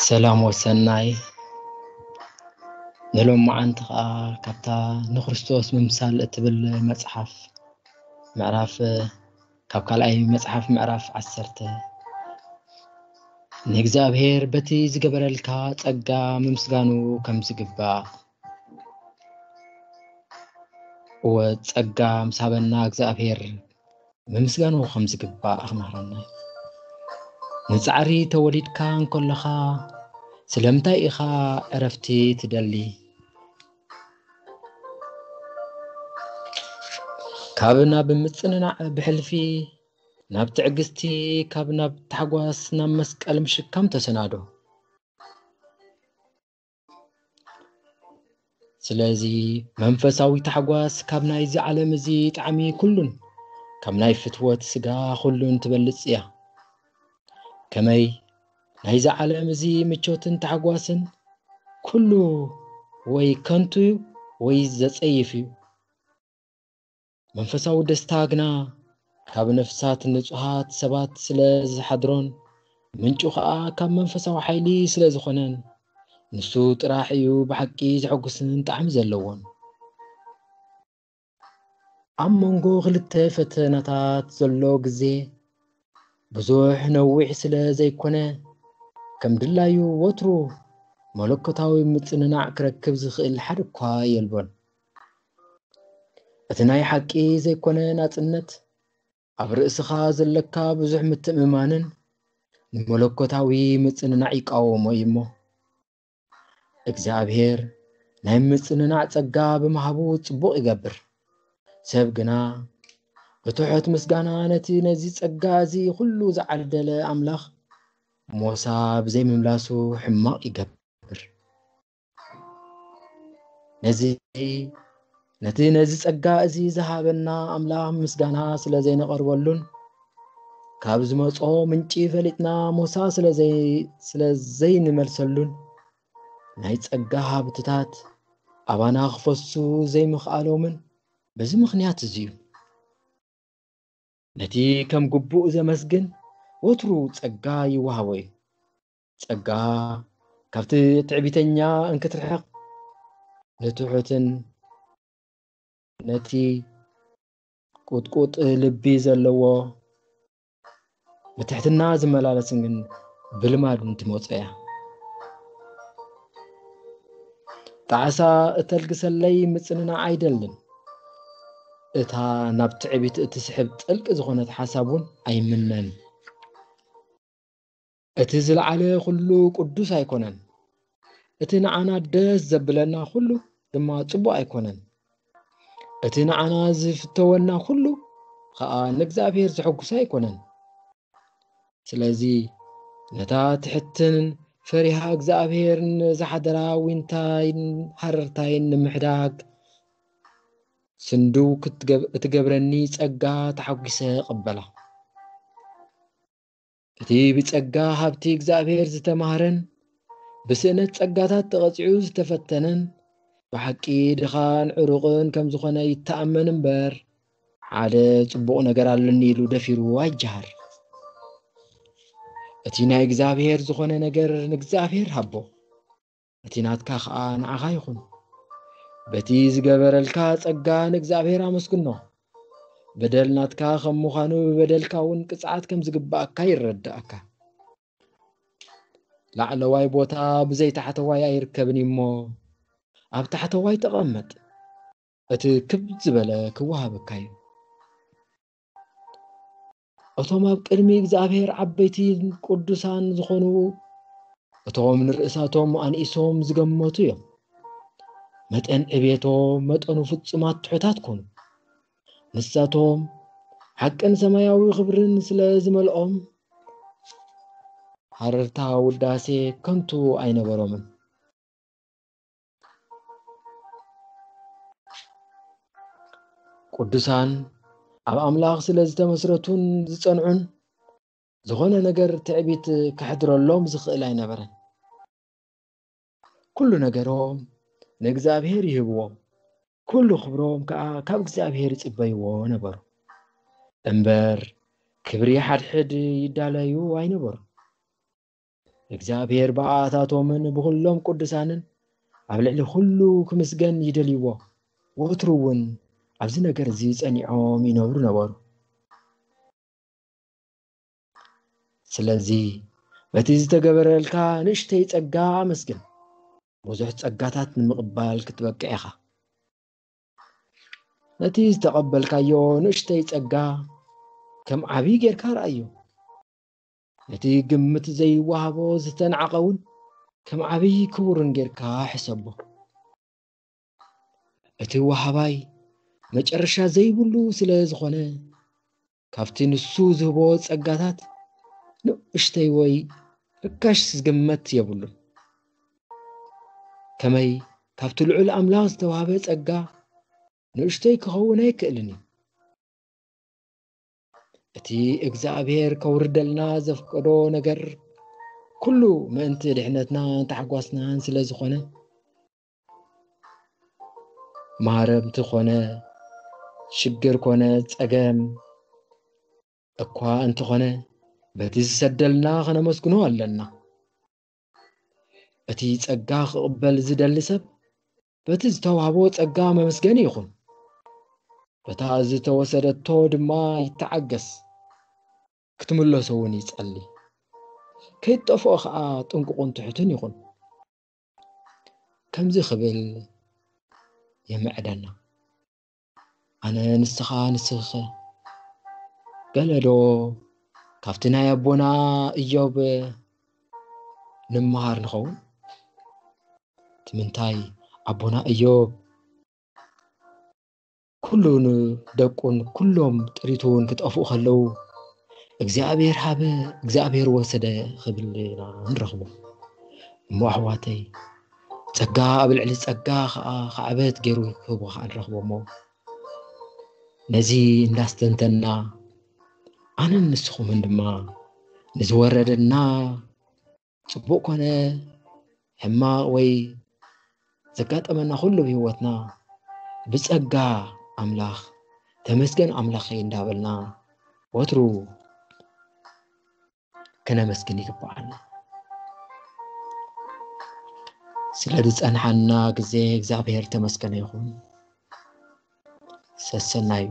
ሰላም ወሰናይ። ንሎማዓንቲ ኸዓ ካብታ ንክርስቶስ ምምሳል እትብል መጽሓፍ ምዕራፍ፣ ካብ ካልኣይ መጽሓፍ ምዕራፍ ዓሰርተ፣ ንእግዚኣብሔር በቲ ዝገበረልካ ጸጋ ምምስጋኑ ከም ዝግባእ፣ እወ፣ ጸጋ ምስ ሃበና እግዚኣብሔር ምምስጋኑ ከም ዝግባእ ክምህረና። ንጻዕሪ ተወሊድካ እንከለኻ ስለምንታይ ኢኻ ዕረፍቲ ትደሊ? ካብ ናብ ምጽንናዕ ብሕልፊ፣ ናብ ትዕግስቲ፣ ካብ ናብ ታሕጓስ ናብ መስቀል ምሽካም ተሰናዶ። ስለዚ መንፈሳዊ ታሕጓስ ካብ ናይዚ ዓለም እዚ ጣዕሚ ኩሉን ካብ ናይ ፍትወት ስጋ ኩሉን ትበልጽ እያ። ከመይ ናይዚ ዓለም እዚ ምቾትን ታሕጓስን ኩሉ ወይ ከንቱ እዩ ወይ ዘጸይፍ እዩ። መንፈሳዊ ደስታ ግና ካብ ነፍሳት ንጹሃት ሰባት ስለ ዝሓድሮን ምንጩ ኸኣ ካብ መንፈሳዊ ሓይሊ ስለ ዝኾነን ንሱ ጥራሕ እዩ ብሓቂ ዘሐጉስን ጣዕሚ ዘለዎን። ኣብ መንጎ ክልተ ፈተናታት ዘሎ ግዜ ብዙሕ ነዊሕ ስለ ዘይኮነ ከም ድላዩ ወትሩ መለኮታዊ ምጽንናዕ ክረክብ ዝኽእል ሓደ እኳ የልቦን። እቲ ናይ ሓቂ ዘይኮነ ናጽነት ኣብ ርእስኻ ዘለካ ብዙሕ ምትእምማንን ንመለኮታዊ ምጽንናዕ ይቃወሞ እዩ እሞ፣ እግዚኣብሔር ናይ ምጽንናዕ ጸጋ ብምሃቡ ጽቡቕ ይገብር። ሰብ ግና ብትሑት ምስጋና ነቲ ነዚ ጸጋ እዚ ኩሉ ዝዓደለ ኣምላኽ ሞሳ ብዘይምምላሱ ሕማቕ ይገብር። ነዚ ነቲ ነዚ ጸጋ እዚ ዝሃበና ኣምላኽ ምስጋና ስለ ዘይነቐርበሉን ካብ ዝመጾ ምንጪ ፈሊጥና ሞሳ ስለ ዘይ-፣ ስለ ዘይንመልሰሉን ናይ ጸጋ ሃብትታት ኣባና ክፈሱ ዘይምኽኣሎምን በዚ ምኽንያት እዚ እዩ። ነቲ ከም ግቡእ ዘመስግን ወትሩ ጸጋ ይወሃቦ እዩ። ጸጋ ካብቲ ትዕቢተኛ እንክትርሕቕ ንትሑትን ነቲ ቁጥቁጥ ልቢ ዘለዎ ብትሕትና ዝመላለስን ግን ብልማድ እንትመጾ እያ። ጣዕሳ እተልግሰለይ ምጽንናዕ ኣይደልን። እታ ናብ ትዕቢት እትስሕብ ጥልቂ ዝኾነት ሓሳብ እውን ኣይምነን። እቲ ዝለዓለ ኩሉ ቅዱስ ኣይኮነን። እቲ ንዓና ደስ ዘብለና ኩሉ ድማ ጽቡቕ ኣይኮነን። እቲ ንዓና ዝፍተወና ኩሉ ኸኣ ንእግዚኣብሔር ዘሐጉስ ኣይኮነን። ስለዚ ነታ ትሕትን ፈሪሃ እግዚኣብሔርን ዝሓደራ ዊንታይን ሃረርታይን ንምሕዳግ ስንድው ክትገብ-፣ እትገብረኒ ጸጋ ተሓጒሰ እቕበላ። እቲ ብጸጋ ሃብቲ እግዚኣብሔር ዝተማህረን ብስእነት ጸጋታት ተቐጺዑ ዝተፈተነን ብሓቂ ድኻን ዕሩቕን ከም ዝኾነ ይተኣመን እምበር፣ ሓደ ጽቡቕ ነገር ኣለኒ ኢሉ ደፊሩ ኣይጀሃር። እቲ ናይ እግዚኣብሔር ዝኾነ ነገር ንእግዚኣብሔር ሃቦ፣ እቲ ናትካ ኸኣ ንዓኻ ይኹን። በቲ ዝገበረልካ ጸጋ ንእግዚኣብሔር ኣመስግኖ። በደል ናትካ ከም ምዃኑ ብበደልካ እውን ቅጽዓት ከም ዝግባኣካ ይረዳእካ። ላዕለዋይ ቦታ ብዘይ ታሕተዋይ ኣይርከብን እዩ እሞ፣ ኣብ ታሕተዋይ ተቐመጥ፣ እቲ ክብ ዝበለ ክወሃበካ እዩ። እቶም ኣብ ቅድሚ እግዚኣብሔር ዓበይትን ቅዱሳን ዝኾኑ፣ እቶም ንርእሳቶም ኣንኢሶም ዝገመቱ እዮም። መጠን ዕቤቶም መጠኑ ፍጹማት ትሑታት ኮኑ። ንሳቶም ሓቅን ሰማያዊ ክብርን ስለ ዝመልኦም፣ ሃረርታ ውዳሴ ከንቱ ኣይነበሮምን። ቅዱሳን ኣብ ኣምላኽ ስለ ዝተመስረቱን ዝጸንዑን፣ ዝኾነ ነገር ትዕቢት ከሕድረሎም ዝኽእል ኣይነበረን። ኩሉ ነገሮም ንእግዚኣብሔር ይህብዎ፣ ኩሉ ክብሮም ከኣ ካብ እግዚኣብሔር ይጽበይዎ ነበሩ። እምበር ክብሪ ሓድሕድ ይዳለዩ ኣይነበሩን። እግዚኣብሔር ብኣታቶምን ብኹሎም ቅዱሳንን ኣብ ልዕሊ ኩሉ ክምስገን ይደልይዎ። ወትሩ እውን ኣብዚ ነገር እዚ ጸኒዖም ይነብሩ ነበሩ። ስለዚ በቲ ዝተገበረልካ ንእሽተይ ጸጋ ኣመስግን። ብዙሕ ጸጋታት ንምቕባል ክትበቅዕ ኢኻ። ነቲ ዝተቐበልካዮ ንእሽተይ ጸጋ ከም ዓብዪ ጌርካ ረኣዮ። ነቲ ግምት ዘይወሃቦ ዝተናዕቐ እውን ከም ዓብዪ ክቡርን ጌርካ ሕሰቦ። እቲ ወሃባይ መጨረሻ ዘይብሉ ስለ ዝኾነ፣ ካብቲ ንሱ ዝህቦ ጸጋታት ንእሽተይ ወይ ርካሽ ዝግመት የብሉን። ከመይ ካብቲ ልዑል ኣምላኽ ዝተዋህበ ጸጋ ንእሽተይ ክኸውን ኣይክእልን እዩ። እቲ እግዚኣብሔር ከውርደልና ዘፍቀዶ ነገር ኩሉ ምእንቲ ድሕነትናን ታሕጓስናን ስለ ዝኾነ፣ ማረምቲ ኮነ ሽግር ኮነ ጸገም እኳ እንተኾነ፣ በቲ ዝሰደልና ከነመስግኖ ኣለና። እቲ ጸጋ ክቕበል ዝደሊ ሰብ በቲ ዝተዋህቦ ጸጋ መመስገኒ ይኹን። በታ ዝተወሰደቶ ድማ ይተዓገስ፣ ክትምለሶ እውን ይጸሊ። ከይትጠፍኦ ኸኣ ጥንቁቕን ትሑትን ይኹን። ከምዚ ክብል የምዕደና። ኣነ ንስኻ ንስኺኸ ገለ ዶ ካብቲ ናይ ኣቦና እዮብ ንምሃር ንኸውን? እቲ ምንታይ ኣቦና እዮብ ኩሉ ንደቁን ኩሎም ጥሪቱን ክጠፍኡ ከለዉ እግዚኣብሔር ሃበ እግዚኣብሔር ወሰደ ክብል ኢና ንረኽቦ። እሞ ኣሕዋተይ ጸጋ ኣብ ልዕሊ ጸጋ ከዓ ካዕበት ገይሩ ክህቦ ከዓ ንረኽቦ። እሞ ነዚ እንዳስተንተንና ኣነን ንስኹምን ድማ ንዝወረደና ጽቡቕ ኮነ ሕማቕ ወይ ዘጋጠመና ኩሉ ብህይወትና ብጸጋ ኣምላኽ ተመስገን ኣምላኸይ እንዳበልና ወትሩ ክነመስግን ይግባኣና። ስለ ዝጸንሓና ግዜ እግዚኣብሔር ተመስገነ ይኹን። ሰሰናዩ